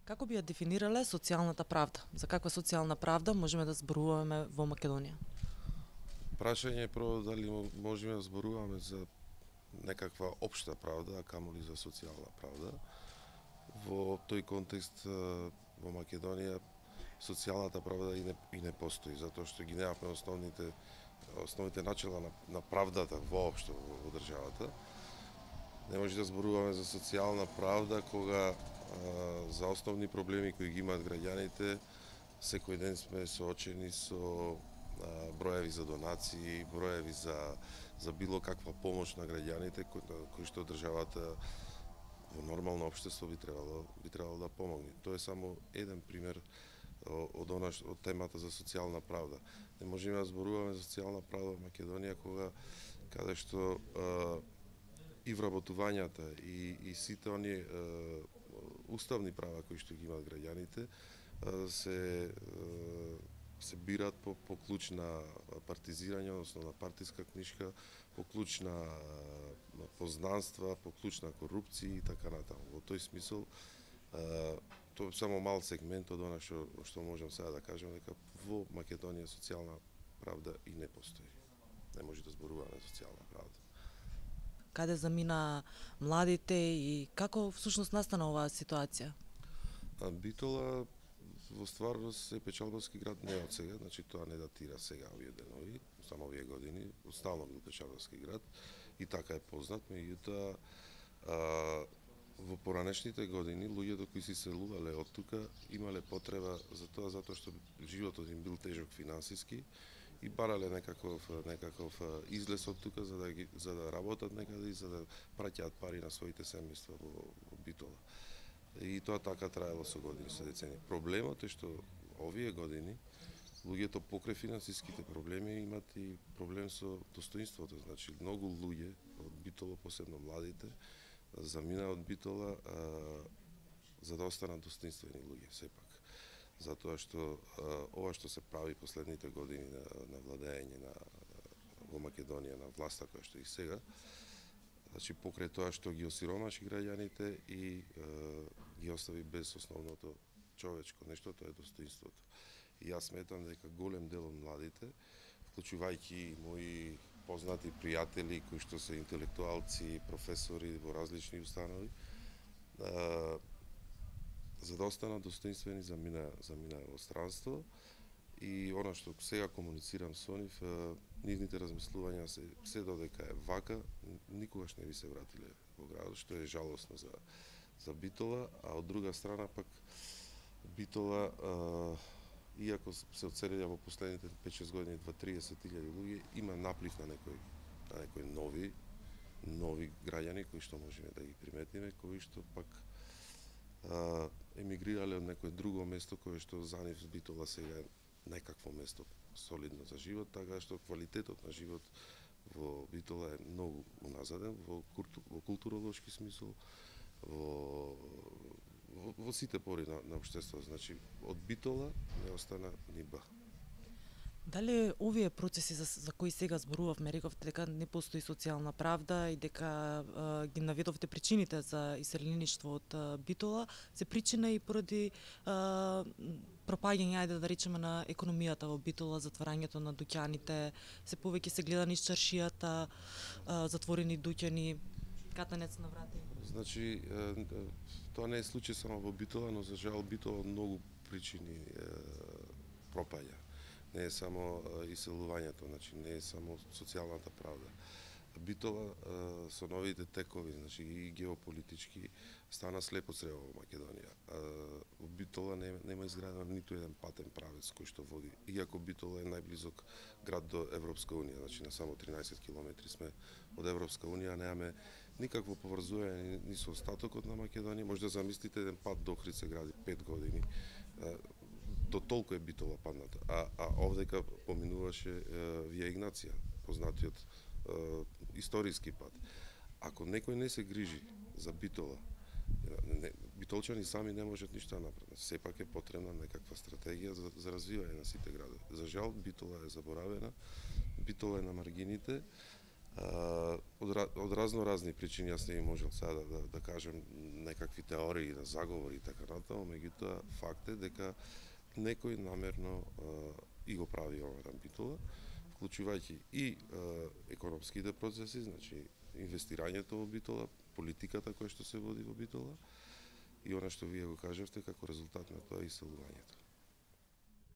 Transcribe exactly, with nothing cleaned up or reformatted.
Како би ја дефинирале социјалната правда? За каква социјална правда можеме да зборуваме во Македонија? Прашање е прво дали можеме да зборуваме за некаква општа правда, а камоли за социјална правда. Во тој контекст во Македонија социјалната правда и не, и не постои, затоа што ги немавме основните основните начела на, на правдата воопшто во, во државата. Не може да зборуваме за социјална правда кога а, за основни проблеми кои ги имаат граѓаните секој ден сме соочени со а, броеви за донации, броеви за за било каква помош на граѓаните кои, кои што државата во нормално општество би требало би требало да помогне. Тоа е само еден пример од она од темата за социјална правда. Не можеме да зборуваме за социјална правда во Македонија кога каде што а, и вработувањата и и сите оние а, уставни права кои што ги имаат граѓаните а, се а, се бират по, по клуч на партизирање, односно на партиска книшка, по клуч на познанства, по клуч на корупција и така натаму. Во тој смисол, тоа е само мал сегмент од она што што можам сега да кажам, дека во Македонија социјална правда и не постои. Не може да зборуваме за социјална правда. Каде замина младите и како всушност настана оваа ситуација? А, Битола во стварност е печалбарски град не од сега, значи тоа не датира сега овие денови, само овие години, стално бил печалбарски град и така е познат, меѓутоа во поранешните години луѓето кои се селувале од тука имале потреба за тоа затоа што животот им бил тежок финансиски и барале некаков некаков излез од тука за да ги, за да работат некаде и за да праќаат пари на своите семејства во, во Битола. И тоа така траело со години, со децени. Проблемот е што овие години луѓето покрај финансиските проблеми имат и проблем со достоинството. Значи многу луѓе од Битола, посебно младите, замина од Битола а, за да останат достоинствени луѓе сепак. Затоа што а, ова што се прави последните години на, на владење на во Македонија на власта која што и сега, значи покрај тоа што ги осиромаши граѓаните и е, ги остави без основното човечко нешто, тоа е достоинството. И јас сметам дека голем дел од младите, вклучувајќи и мои познати пријатели кои што се интелектуалци, професори во различни установи, е, за да останат достоинствени замина замина во странство. И она што сега комуницирам со нив, нивните размислувања се се додека е вака, никогаш не би се вратиле во градот, што е жалосно за за Битола, а од друга страна пак Битола, а, иако се оцелија во последните пет-шест години дваесет до триесет илјади луѓе, има наплив на некои на некои нови нови граѓани кои што можеме да ги приметиме, кои што пак а, емигрирале од некое друго место кое што за нив Битола сега е некакво место солидно за живот, така што квалитетот на живот во Битола е многу уназаден во, во културолошки смисол, во, во, во сите пори на, на општеството. Значи, од Битола не остана ни ба. Дали овие процеси за, за кои сега зборувавме, рековте дека не постои социјална правда и дека а, ги наведовте причините за иселеништво од а, Битола, се причина и поради а, пропаѓање, ајде да речеме, на економијата во Битола, затварањето на дуќаните, се повеќе се гледа низ чаршијата, а, затворени дуќани, катанец на врати? Значи, тоа не е случај само во Битола, но за жал Битола многу причини пропаѓа. Не е само иселувањето, значи не е само социјалната правда. Битола со новите текови, значи и геополитички, стана слепо црево во Македонија. Во Битола нема, нема изградено ниту еден патен правец кој што води, иако Битола е најблизок град до Европска унија, значи на само тринаесет километри сме од Европска унија, немаме никакво поврзување ни со остатокот на Македонија. Може да замислите еден пат до Охрид се гради пет години. До толку е Битола падната. А, а овдека поминуваше Вија Игнација, познатиот е, историски пат. Ако некој не се грижи за Битола, не, битолчани сами не можат ништо да направат. Сепак е потребна некаква стратегија за, за развивање на сите градови. За жал, Битола е заборавена, Битола е на маргините, од, од разно разни причини, јас не би можел сега да, да, да кажем некакви теории на заговори и така натаму, меѓутоа факт е дека некој намерно и го прави ова на Битола, вклучувајќи и економските процеси, значи инвестирањето во Битола, политиката која што се води во Битола и она што вие го кажавте како резултат на тоа иселувањето.